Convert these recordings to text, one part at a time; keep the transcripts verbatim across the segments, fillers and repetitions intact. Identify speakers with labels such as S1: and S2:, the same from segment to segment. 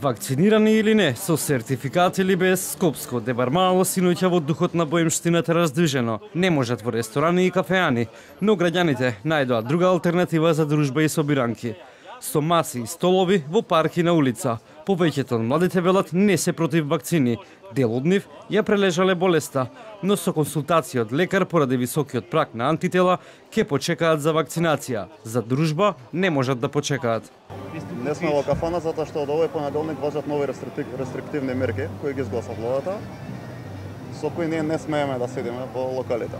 S1: Вакцинирани или не, со сертификат или без, Скопско дебармало синоќа во духот на боемштината раздвижено. Не можат во ресторани и кафеани, но граѓаните најдоа друга алтернатива за дружба и собиранки. Со маси и столови во парки на улица. Повеќето од младите велат не се против вакцини. Дел од нив ја прележале болеста, но со консултација од лекар поради високиот праг на антитела ќе почекаат за вакцинација. За дружба не можат да почекаат.
S2: Не сме во кафана затоа што од овој понеделник важат нови рестриктивни мерки кои ги изгласа владата, со кои ние не смееме да седиме во локалите.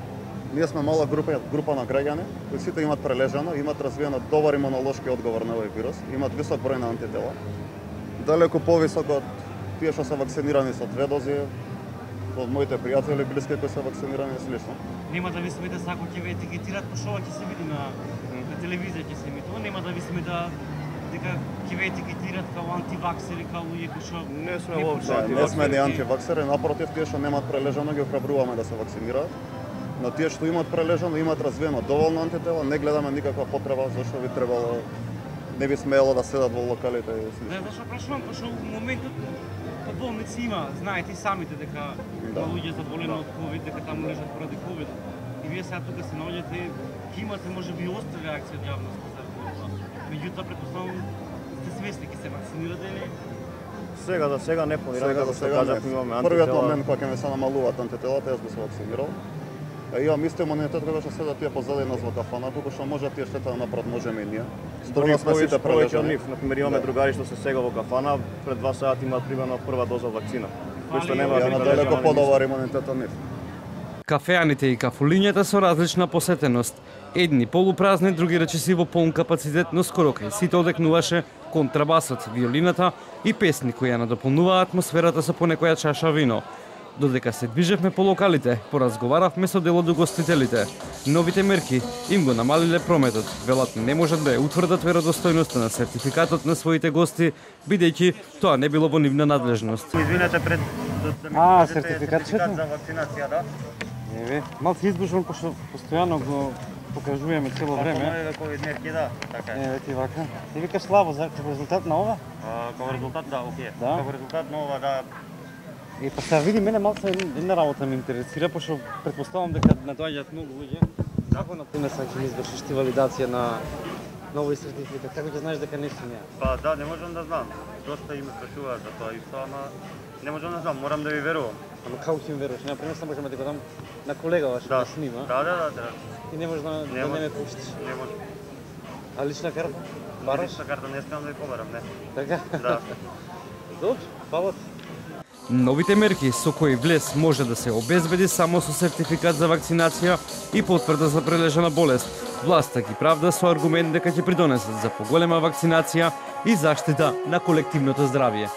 S2: Ние сме мала група, група на граѓани кои сите имат прележано, имат развиено добар имунолошки одговор на овој вирус, имат висок број на антитела, далеку повисок од тие што се вакцинирани со две дози, од моите пријатели блиски кои се вакцинирани и слично.
S3: Нема да ви смете сако ќе ве етикетират, пошто ова ќе се види на, на телевизија ќе се емитува, нема да ви смета дека ќе ве етикетират као антиваксери, као луѓе кои што
S2: не сме воопшто не сме ни антиваксери, напротив, тие што немаат прележано ги охрабруваме да се вакцинираат. Но тие што имаат прележано, имаат развиено доволно антитела, не гледаме никаква потреба зашто би требало, не би смеело да седат во локалите и слично.
S3: Не, зашто прашувам, пошто во моментот по болници има, знаете и самите дека да. Луѓе заболени од ковид, дека таму лежат поради ковид. И вие сега тука се наоѓате, ќе имате можеби и остра реакција од јавноста за тоа. Меѓутоа претпоставувам сте свесни ќе се вакцинирате или?
S2: Сега за сега не планираме, сега за сега кажав, имаме антитела. Првиот момент кога ќе ме се намалуваат антителата, јас би се вакцинирал. Имам исто имунитет кога што седат тие позади нас во кафана, колку што може тие штета да направат, можеме и ние. Други сме сите прележани. Например, имаме другари што се сега во кафана, пред два сати имаат примерно прва доза вакцина, кои што немаат далеко подобар имунитет од нив.
S1: Кафеаните и кафулињата со различна посетеност. Едни полупразни, други речиси во полн капацитет, но скоро кај сите одекнуваше контрабасот, виолината и песни кои ја надополнуваа атмосферата со понекоја чаша вино. Додека се движевме по локалите, поразговаравме со дел од угостителите. Новите мерки им го намалиле прометот. Велат не можат да ја утврдат веродостојноста на сертификатот на своите гости, бидејќи тоа не било во нивна надлежност.
S3: Извинете пред
S1: А, сертификат
S3: за вакцинација, да?
S1: Еве, малку избушувам пошто постојано го покажуваме цело време.
S3: Нови ковид мерки, да, така е.
S1: Еве ти вака. Ти викаш слабо за резултат на ова?
S3: Како резултат, да, окей.
S1: Да?
S3: Како резултат на ова, да.
S1: И па сега види, мене малку една работа ме интересира, пошто претпоставувам дека надоаѓаат многу луѓе. Како на пример сега ќе ми извршиш ти валидација на нови сертификат? Како ќе знаеш дека не си неа?
S3: Па да, не можам да знам. Доста им прашуваат за тоа исто, ама не можам да знам, морам да ви верувам.
S1: Ама како ќе ми веруваш? Нема пример само можам да го дам на колега ваш да снима.
S3: Да, да, да, да.
S1: И не можеш да не, да не ме пуштиш.
S3: Не може.
S1: А лична карта? Бараш?
S3: Лична карта не искам да ви побарам, не.
S1: Така?
S3: Да.
S1: Добро, фала ти. Новите мерки со кои влез може да се обезбеди само со сертификат за вакцинација и потврда за прележана болест. Власта ги правда со аргумент дека ќе придонесат за поголема вакцинација и заштита на колективното здравје.